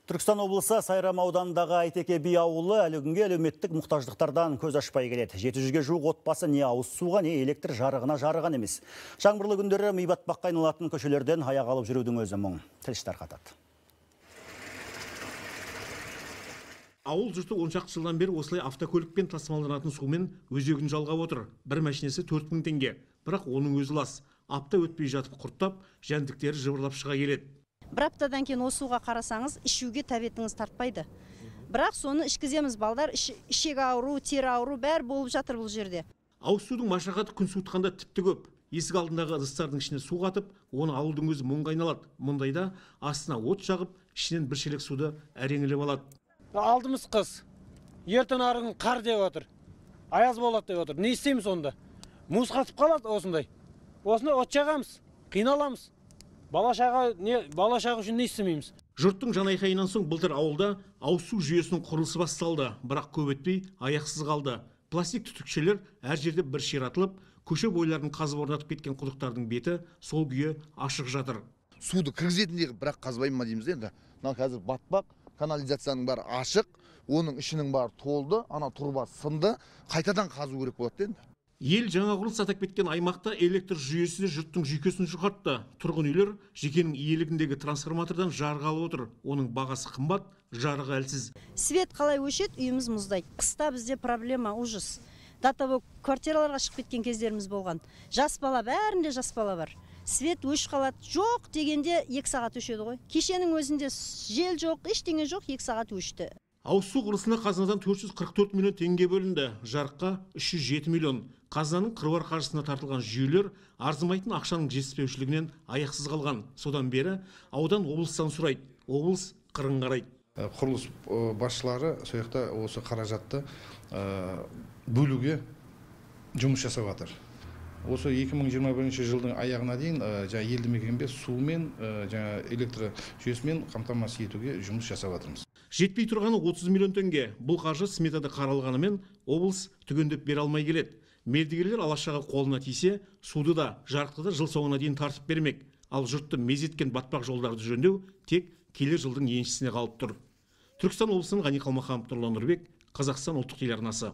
Түркістан облысы Сайрам ауданындағы Айтеке би ауылы әлі күнге әлеуметтік мұқтаждықтардан көз ашпай келеді. 700-ге жуық отбасы не ауыз суға, не электр жарығына жарыған емес. Жаңбырлы күндері ми батпаққа айналатын көшелерден аяқ алып жүрудің өзі мұң. Тілші тарқатады. Ауыл жұрты 10 шақты жылдан бері осылай автокөлікпен тасымалданатын сумен өзегін жалғап отыр. Бір машинесі 4000 теңге. Бірақ оның өзі лас. Апта өтпей жатып құрттап, жәндіктері жыбырлап шыға келеді. Бір аптадан кейін осы суға қарасаңыз, ішуге тәбетіңіз тартпайды. Бірақ соны ішкіземіз, балдар, ішек ауру, тері ауру бәрі болып жатыр бұл жерде. Ауыз судың машақаты күн суытқанда тіпті көп. Есік алдындағы ыдыстардың ішіне су қатып, оны ауылдың өзі мұңға айналады. Мұндайда астына от жағып, ішінен бір шелек суды әреңілеп алады. Алдымыз қыз. Ертең арығын қар деп отыр. Аяз болады деп отыр. Не істейміз онда? Мұз қатып қалады осындай. Осындай от жағамыз, қиналамыз. Балашағы үшін не істемейміз? Жұрттың жанайқайынан соң былтыр ауылда ауыз су жүйесінің құрылысы басталды, бірақ көп өтпей аяқсыз қалды. Пластик түтікшелер әр жерде бір ширатылып, көше бойларын қазып орнатып кеткен құдықтардың беті сол күйі ашық жатыр. Суды кіргізетіндей бірақ қазбайым ма дейміз енді. Мына қазір батпақ, канализацияның бәрі ашық, оның ішінің бәрі толды, ана тұрба сынды, қайтадан қазу керек болады енді. Ел жаңа құрылыс атап кеткен аймақта электр жүйесі жұрттың жүйкесін жұқартты. Тұрғын үйлер жекенің иелігіндегі трансформатордан жарық алып отыр. Оның бағасы қымбат, жарығы әлсіз. Свет қалай өшеді, үйіміз мұздайды. Қыста бізде проблема ужас. Датабы квартираларға шығып кеткен кездеріміз болған. Жас бала, бәрінде жас бала бар. Свет өш қалады. Жоқ дегенде 2 сағат өшеді ғой. Кешенің өзінде жел жоқ, ештеңе жоқ, 2 сағат өшті. Ауыз су құрылысына қазынадан 444 миллион теңге бөлінді, жарыққа 307 миллион. Қазынаның қыруар қаржысына тартылған жүйелер арзымайтын ақшаның жетіспеушілігінен аяқсыз қалған. Содан бері аудан облыстан сұрайды, облыс қырын қарайды. Құрылыс басшылары сояқта осы қаражатты бөлуге жұмыс жасап жатыр. Осы 2021 жылдың аяғына дейін елді мекенге сумен, электр жүйесімен қамтамасыз етуге жұмыс жасап жатырмыз. Жетпей тұрғаны 30 миллион теңге. Бұл қаржы сметада қаралғанымен облыс түгендеп бере алмай келеді. Мердігерлер алашаға қолына тисе, суды да, жарықты да жыл соңына дейін тартып бермек. Ал жұртты мезеткен батпақ жолдарды жөндеу тек келер жылдың еншісіне қалып тұр. Түркістан облысының Ғани Қалмаханов, Нұрлан Нұрбек, Қазақстан ұлттық телеарнасы.